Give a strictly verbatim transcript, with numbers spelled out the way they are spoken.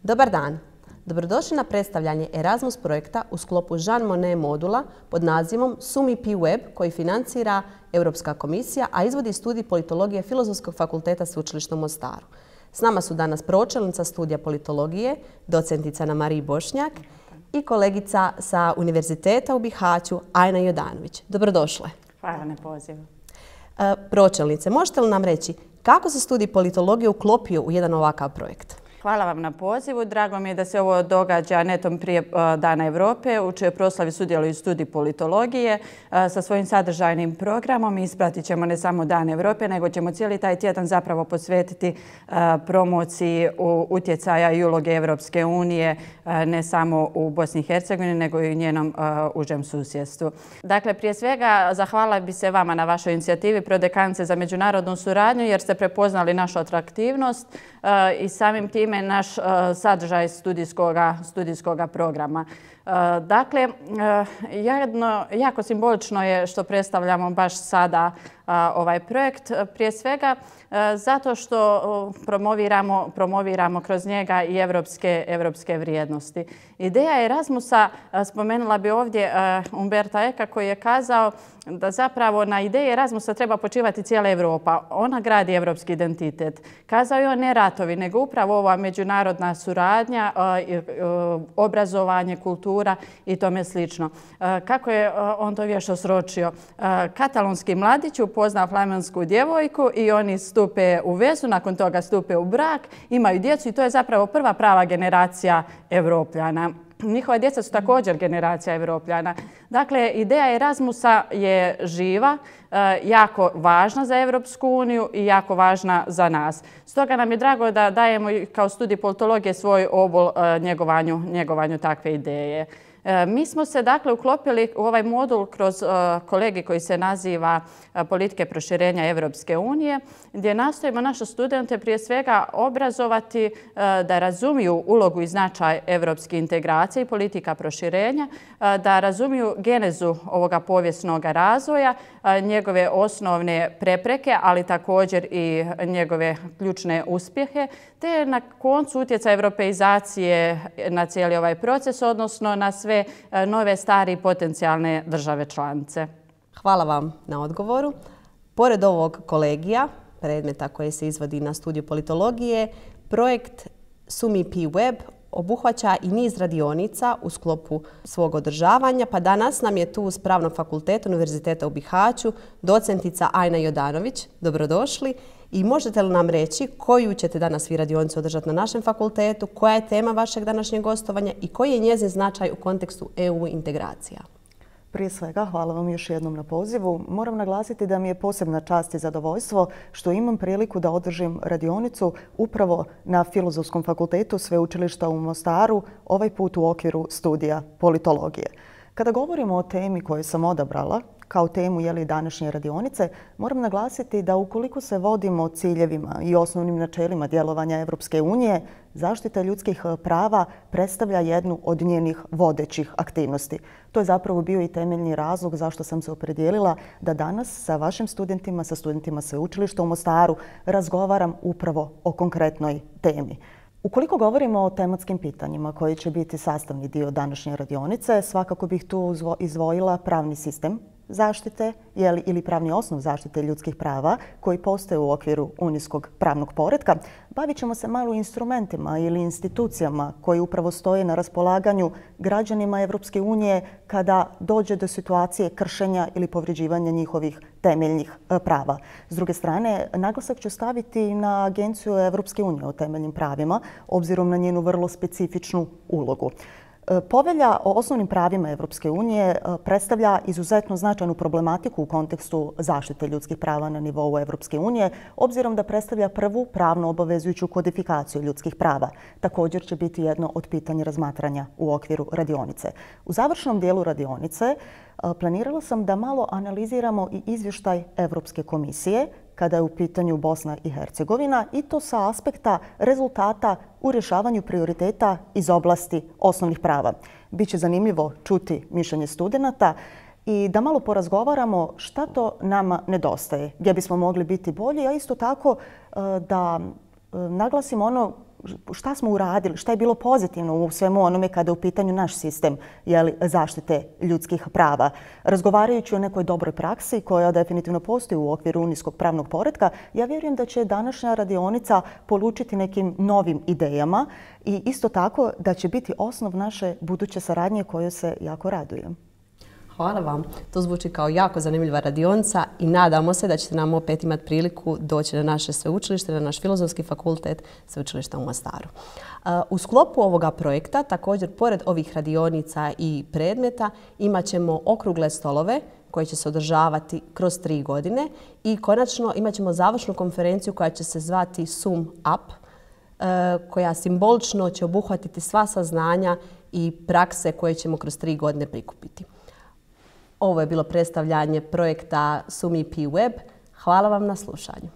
Dobar dan! Dobrodošli na predstavljanje Erasmus projekta u sklopu Jean Monnet modula pod nazivom SUMI-P Web koji financira Europska komisija, a izvodi studij politologije Filozofskog fakulteta Sveučilišta u Mostaru. S nama su danas pročelnica studija politologije, docentica Anamarija Bošnjak i kolegica sa Univerziteta u Bihaću, Ajna Jodanović. Dobrodošle. Hvala na pozivu. Pročelnice, možete li nam reći kako se studij politologije uklopio u jedan ovakav projekt? Hvala vam na pozivu. Drago mi je da se ovo događa netom prije Dana Evrope, u čijoj proslavi sudjeluju studij politologije sa svojim sadržajnim programom. Ispratit ćemo ne samo Dan Evrope, nego ćemo cijeli taj tjedan zapravo posvetiti promociji utjecaja i uloge Evropske unije ne samo u Bosni i Hercegovini, nego i u njenom užem susjedstvu. Dakle, prije svega zahvalila bi se vama na vašoj inicijativi Prodekanice za međunarodnu suradnju, jer ste prepoznali našu atraktivnost i samim tim naš sadržaj studijskog programa. Dakle, jedno, jako simbolično je što predstavljamo baš sada ovaj projekt. Prije svega zato što promoviramo, promoviramo kroz njega i evropske, evropske vrijednosti. Ideja Erasmusa, spomenula bi ovdje Umberta Eka koji je kazao da zapravo na ideji Erasmusa treba počivati cijela Europa. Ona gradi evropski identitet. Kazao je on ne ratovi, nego upravo ova međunarodna suradnja, obrazovanje, kultura i tome slično. Kako je on to vješto sročio? Katalonski mladić upozna flamensku djevojku i oni stupe u vezu, nakon toga stupe u brak, imaju djecu i to je zapravo prva prava generacija Evropljana. Njihova djeca su također generacija Evropljana. Dakle, ideja Erasmusa je živa, jako važna za Evropsku uniju i jako važna za nas. Stoga nam je drago da dajemo kao studij politologije svoj obol njegovanju, njegovanju takve ideje. Mi smo se dakle uklopili u ovaj modul kroz kolegij koji se naziva Politike proširenja Evropske unije, gdje nastojimo naše studente prije svega obrazovati da razumiju ulogu i značaj evropske integracije i politika proširenja, da razumiju genezu ovoga povijesnog razvoja, njegove osnovne prepreke, ali također i njegove ključne uspjehe, te na koncu utjecaj europeizacije na cijeli ovaj proces, odnosno na sve nove, stare i potencijalne države članice. Hvala vam na odgovoru. Pored ovog kolegija, predmeta koji se izvodi na studiju politologije, projekt SUMI-P Web obuhvaća i niz radionica u sklopu svog održavanja, pa danas nam je tu s Pravnog fakulteta Univerziteta u Bihaću docentica Ajna Jodanović. Dobrodošli. I možete li nam reći koju ćete danas vi radionicu održati na našem fakultetu, koja je tema vašeg današnjeg gostovanja i koji je njezin značaj u kontekstu E U integracija? Prije svega, hvala vam još jednom na pozivu. Moram naglasiti da mi je posebna čast i zadovoljstvo što imam priliku da održim radionicu upravo na Filozofskom fakultetu Sveučilišta u Mostaru, ovaj put u okviru studija politologije. Kada govorimo o temi koju sam odabrala, kao temu jeli današnje radionice, moram naglasiti da ukoliko se vodimo ciljevima i osnovnim načelima djelovanja Evropske unije, zaštita ljudskih prava predstavlja jednu od njenih vodećih aktivnosti. To je zapravo bio i temeljni razlog zašto sam se opredijelila da danas sa vašim studentima, sa studentima Sveučilišta u Mostaru razgovaram upravo o konkretnoj temi. Ukoliko govorimo o tematskim pitanjima koji će biti sastavni dio današnje radionice, svakako bih tu izdvojila pravni sistem zaštite ili pravni osnov zaštite ljudskih prava koji postoje u okviru unijskog pravnog poretka. Bavit ćemo se malo instrumentima ili institucijama koji upravo stoje na raspolaganju građanima Evropske unije kada dođe do situacije kršenja ili povređivanja njihovih temeljnih prava. S druge strane, naglasak ću staviti na Agenciju Evropske unije o temeljnim pravima, obzirom na njenu vrlo specifičnu ulogu. Povelja o osnovnim pravima Evropske unije predstavlja izuzetno značajnu problematiku u kontekstu zaštite ljudskih prava na nivou Evropske unije, obzirom da predstavlja prvu pravno obavezujuću kodifikaciju ljudskih prava. Također će biti jedno od pitanja razmatranja u okviru radionice. U završnom dijelu radionice planirala sam da malo analiziramo i izvještaj Evropske komisije kada je u pitanju Bosna i Hercegovina i to sa aspekta rezultata u rješavanju prioriteta iz oblasti osnovnih prava. Biće zanimljivo čuti mišljenje studenata i da malo porazgovaramo šta to nama nedostaje, gdje bismo mogli biti bolji, a isto tako da naglasimo ono šta smo uradili, šta je bilo pozitivno u svemu onome kada je u pitanju naš sistem jeli, zaštite ljudskih prava. Razgovarajući o nekoj dobroj praksi koja definitivno postoji u okviru unijskog pravnog poretka, ja vjerujem da će današnja radionica polučiti nekim novim idejama i isto tako da će biti osnov naše buduće saradnje kojoj se jako radujem. Hvala vam. To zvuči kao jako zanimljiva radionica i nadamo se da ćete nam opet imati priliku doći na naše sveučilište, na naš Filozofski fakultet Sveučilišta u Mostaru. U sklopu ovoga projekta, također, pored ovih radionica i predmeta, imat ćemo okrugle stolove koje će se održavati kroz tri godine i konačno imat ćemo završnu konferenciju koja će se zvati Sum Up, koja simbolično će obuhvatiti sva saznanja i prakse koje ćemo kroz tri godine prikupiti. Ovo je bilo predstavljanje projekta SumIP Web. Hvala vam na slušanju.